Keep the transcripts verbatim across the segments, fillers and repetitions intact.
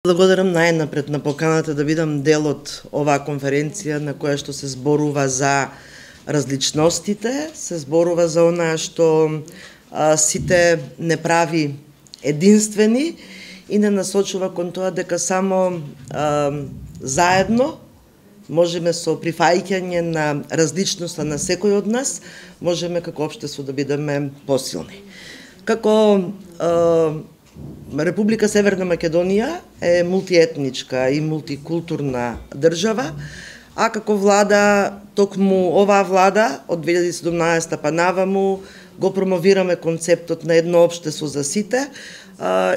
Благодарам најнапред на поканата да бидам дел од оваа конференција на која што се зборува за различностите, се зборува за онаа што а, сите не прави единствени и не насочува кон тоа дека само а, заедно можеме со прифаќање на различноста на секој од нас, можеме како општество да бидеме посилни. Како а, Република Северна Македонија е мултиетничка и мултикултурна држава, а како влада, токму оваа влада од две илјади и седумнаесета па наваму го промовираме концептот на едно општество за сите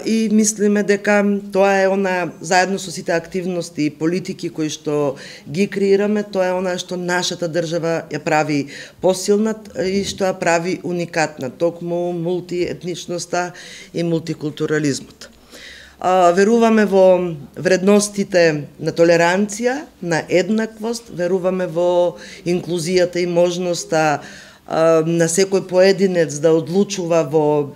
и мислиме дека тоа е она, заедно со сите активности и политики кои што ги креираме, тоа е она што нашата држава ја прави посилна и што ја прави уникатна, токму мултиетничноста и мултикултурализмот. Веруваме во вредностите на толеранција, на еднаквост, веруваме во инклузијата и можноста на секој поединец да одлучува во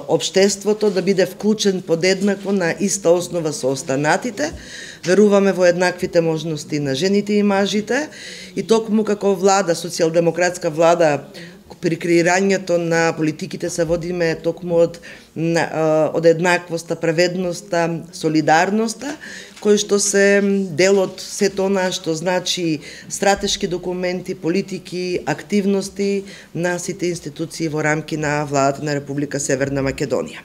општеството, да биде вклучен подеднакво на иста основа со останатите. Веруваме во еднаквите можности на жените и мажите и токму како влада, социјалдемократска влада, при креирањето на политиките се водиме токму од, од еднаквоста, праведноста, солидарноста, кои што се дел од сето она што значи стратешки документи, политики, активности на сите институции во рамки на владата на Република Северна Македонија.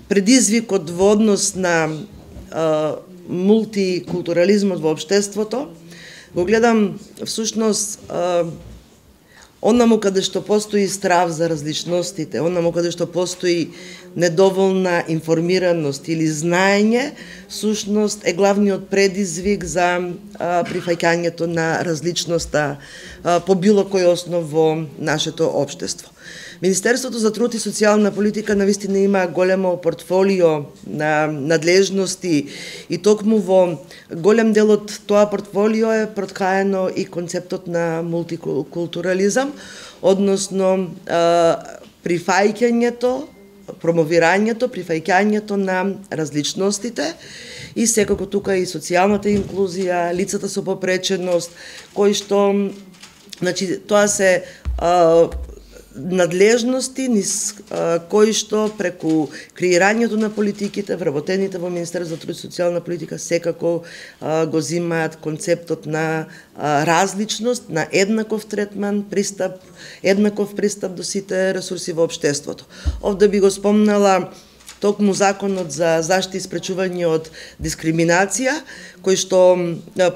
Предизвикот во однос на мултикултурализмот во општеството го гледам всушност онаму каде што постои страв за различностите, онаму каде што постои недоволна информираност или знаење, всушност е главниот предизвик за а, прифаќањето на различноста а, по било кој основ во нашето општество. Министерството за труд и социјална политика навистина има големо портфолио на надлежности и токму во голем дел од тоа портфолио е проткаено и концептот на мултикултурализам, односно прифаќањето, промовирањето, прифаќањето на различностите и секако тука и социјалната инклузија, лицата со попреченост, кои што, значи, тоа се а, надлежности низ а, кои што преку креирањето на политиките, вработените во Министерството за труд и социјална политика секако а, го зимаат концептот на а, различност, на еднаков третман, пристап, еднаков пристап до сите ресурси во општеството. Овде би го спомнала токму Законот за заштита и спречување од дискриминација, кој што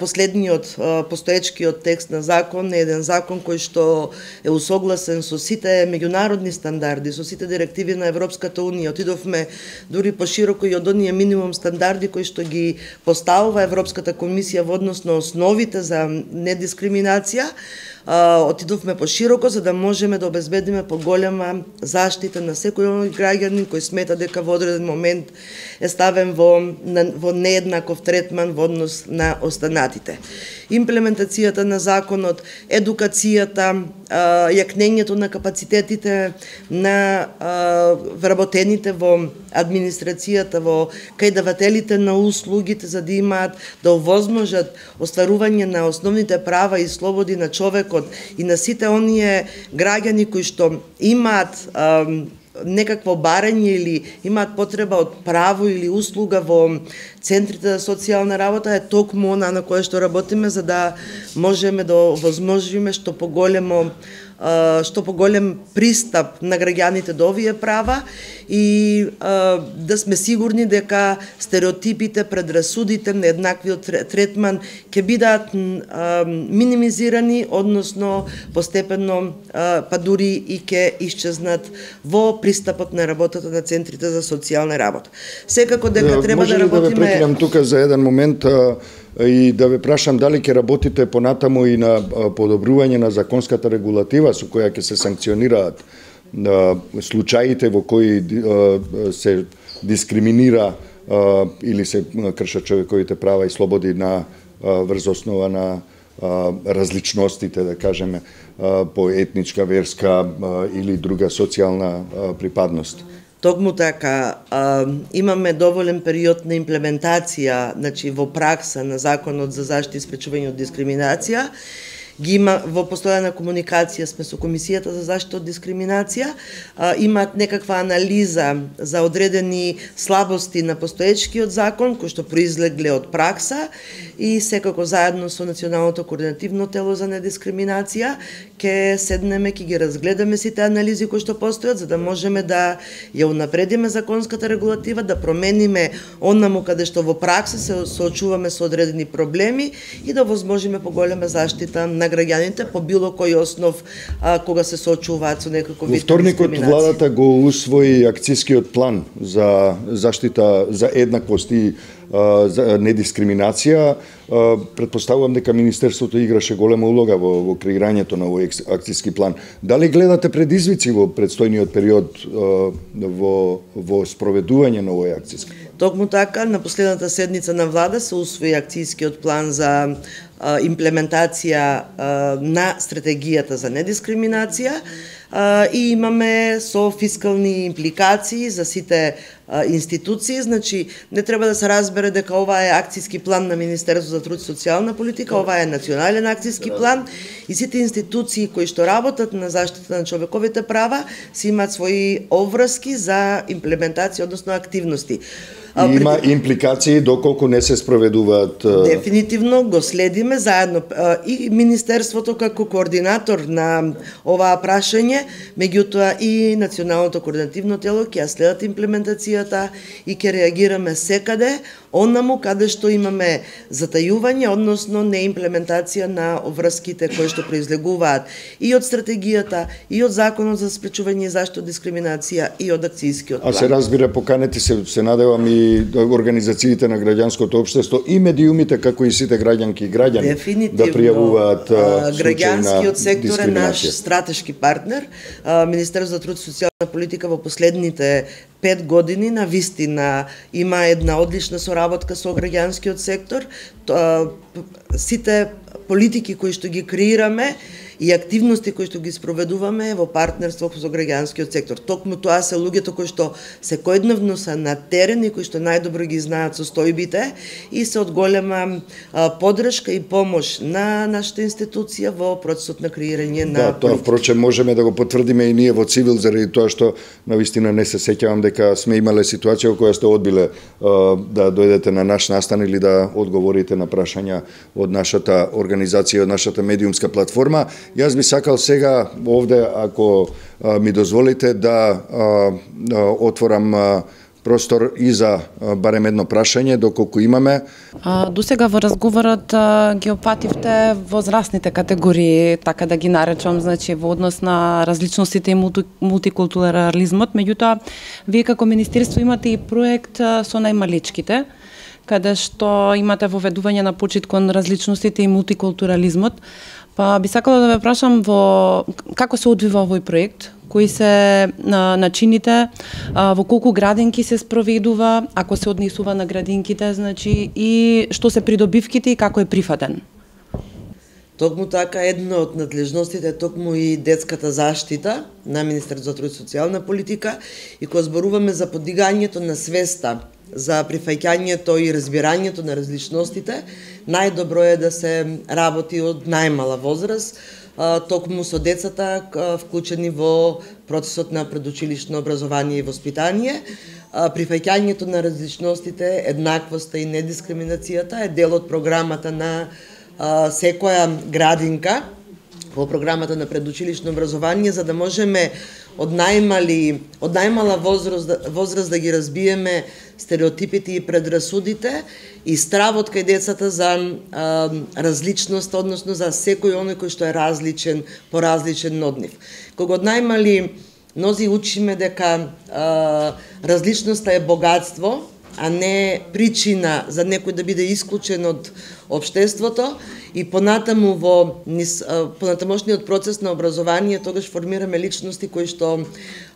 последниот постоечкиот текст на закон е еден закон кој што е усогласен со сите меѓународни стандарди, со сите директиви на Европската унија. Отидовме дури пошироко и од оние минимум стандарди кои што ги поставува Европската комисија во однос на основите за недискриминација. Отидовме пошироко за да можеме да обезбедиме поголема заштита на секој граѓанин кој смета дека во одреден момент е ставен во, во нееднаков третман во однос на останатите. Имплементацијата на законот, едукацијата, јакнењето на капацитетите на вработените во администрацијата, во кајдавателите на услугите, за да имаат да овозможат остварување на основните права и слободи на човекот и на сите оние граѓани кои што имаат некакво барање или имаат потреба од право или услуга во центрите за социјална работа, е токму она на кое што работиме за да можеме да овозможиме што поголемо што поголем пристап на граѓаните до овие права и а, да сме сигурни дека стереотипите, предрасудите, нееднаквиот третман ќе бидат а, минимизирани, односно постепено а, па дури и ќе исчезнат во пристапот на работата на центрите за социјална работа. Секако дека да, треба да работиме... Може ли да ве прекинам тука за еден момент а, и да ве прашам дали ќе работите понатаму и на подобрување на законската регулатива со која ќе се санкционираат случаите во кои се дискриминира или се кршат човековите права и слободи на врз основа на различностите, да кажеме, по етничка, верска или друга социјална припадност. Токму така, а, имаме доволен период на имплементација, значи во пракса на Законот за заштита и спречување од дискриминација. Ги има во постојана комуникација сме со Комисијата за заштита од дискриминација, а, имаат некаква анализа за одредени слабости на постоечкиот закон кои што произлегле од пракса и секако заедно со Националното координативно тело за недискриминација ќе седнеме, ќе ги разгледаме сите анализи кои што постојат за да можеме да ја унапредиме законската регулатива, да промениме онаму каде што во пракса се соочуваме со одредени проблеми и да возможиме поголема заштита на граѓаните по било кој основ а, кога се соочуваат со некаков вид дискриминација. Во вторникот владата го усвои акцијскиот план за заштита за еднаквост и а, за недискриминација. А, предпоставувам дека Министерството играше голема улога во, во креирањето на овој акцијски план. Дали гледате предизвици во предстојниот период а, во, во спроведување на овој акцијски план? Токму така, на последната седница на влада се усвои акцијскиот план за а, имплементација а, на стратегијата за недискриминација а, и имаме со фискални импликации за сите а, институции, значи не треба да се разбере дека ова е акцијски план на Министерството за труд и социјална политика, ова е национален акцијски план и сите институции кои што работат на заштита на човековите права си имаат своји обврски за имплементација, односно активности. И има импликации доколку не се спроведуваат. Дефинитивно го следиме заедно и Министерството како координатор на оваа прашање, меѓутоа и Националното координативно тело ќе ја следат имплементацијата и ќе реагираме секаде онаму каде што имаме затајување, односно неимплементација на обврските кои што произлегуваат и од стратегијата, и од Законот за спречување и заштита од дискриминација и од акцијскиот план. А се разбира, поканети се, се надевам и организациите на граѓанското општество и медиумите како и сите граѓанки и граѓани да пријавуваат граѓанскиот сектор е наш стратешки партнер. Министерството за труд и социјална политика во последните пет години на вистина има една одлична соработка со граѓанскиот сектор. Сите политики кои што ги креираме и активности кои што ги спроведуваме во партнерство со граѓанскиот сектор. Токму тоа се луѓето кои што секојдневно се на терен и кои што најдобро ги знаат состојбите и се од голема а, подршка и помош на нашата институција во процесот на креирање на Да, тоа впрочем можеме да го потврдиме и ние во Цивил заради тоа што навистина не се сеќавам дека сме имале ситуација во која сте одбиле а, да дојдете на наш настан или да одговорите на прашања од нашата организација, од нашата медиумска платформа. Јас би сакал сега овде, ако а, ми дозволите, да а, а, отворам а, простор и за а, барем едно прашање, доколку имаме. А, до сега во разговорот а, ги опативте возрастните категории, така да ги наречам, значи во однос на различностите и мулти, мултикултурализмот, меѓутоа вие како министерство имате и проект а, со најмаличките, каде што имате воведување на почит кон различностите и мултикултурализмот. Па би сакала да ве прашам во како се одвива овој проект, кои се а, начините, а, во колку градинки се спроведува, ако се однесува на градинките, значи и што се придобивките и како е прифатен. Токму така, една од надлежностите е токму и детската заштита на Министерството за труд и социјална политика и кога зборуваме за подигањето на свеста за прифаќањето и разбирањето на различностите, најдобро е да се работи од најмала возраст, токму со децата вклучени во процесот на предучилишно образование и воспитание. Прифаќањето на различностите, еднаквоста и недискриминацијата е дел од програмата на секоја градинка, во програмата на предучилишно образование, за да можеме од најмали, од најмала возраст, возраст да ги разбиеме стереотипите и предрасудите и стравот кај децата за а, различност, односно за секој оној кој што е различен, поразличен од нив. Кога од најмали нози учиме дека а, различноста е богатство, а не причина за некој да биде исклучен од општеството, и понатаму во понатамошниот процес на образование тогаш формираме личности кои што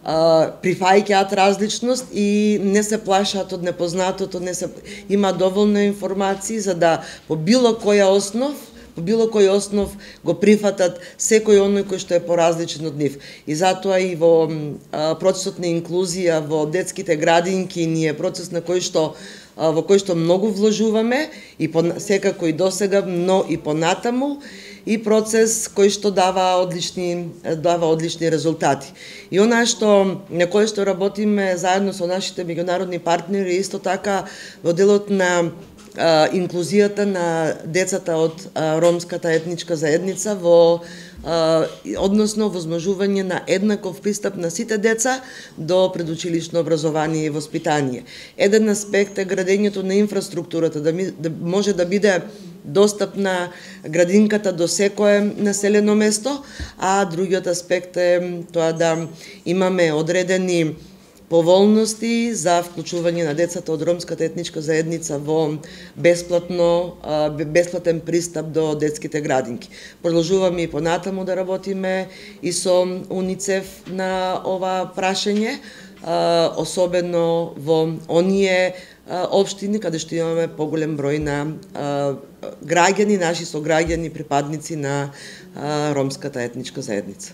а, прифаќаат различност и не се плашат од непознатото, не се има доволно информации за да по било која основ по било кој основ го прифатат секој оној кој што е поразличен од нив. И затоа и во а, процесот на инклузија во детските градинки ни е процес на кој што во кој што многу вложуваме и по, секако и досега, но и понатаму, и процес кој што дава одлични дава одлични резултати. И она што на кој што работиме заедно со нашите меѓународни партнери исто така во делот на а, инклузијата на децата од а, ромската етничка заедница во а, односно возможување на еднаков пристап на сите деца до предучилишно образование и воспитание. Еден аспект е градењето на инфраструктурата, да, ми, да може да биде достапна градинката до секое населено место, а другиот аспект е тоа да имаме одредени поволности за вклучување на децата од ромската етничка заедница во бесплатно бесплатен пристап до детските градинки. Продолжуваме и понатаму да работиме и со УНИЦЕФ на ова прашање, особено во оние општини каде што имаме поголем број на граѓани, наши сограѓани, припадници на ромската етничка заедница.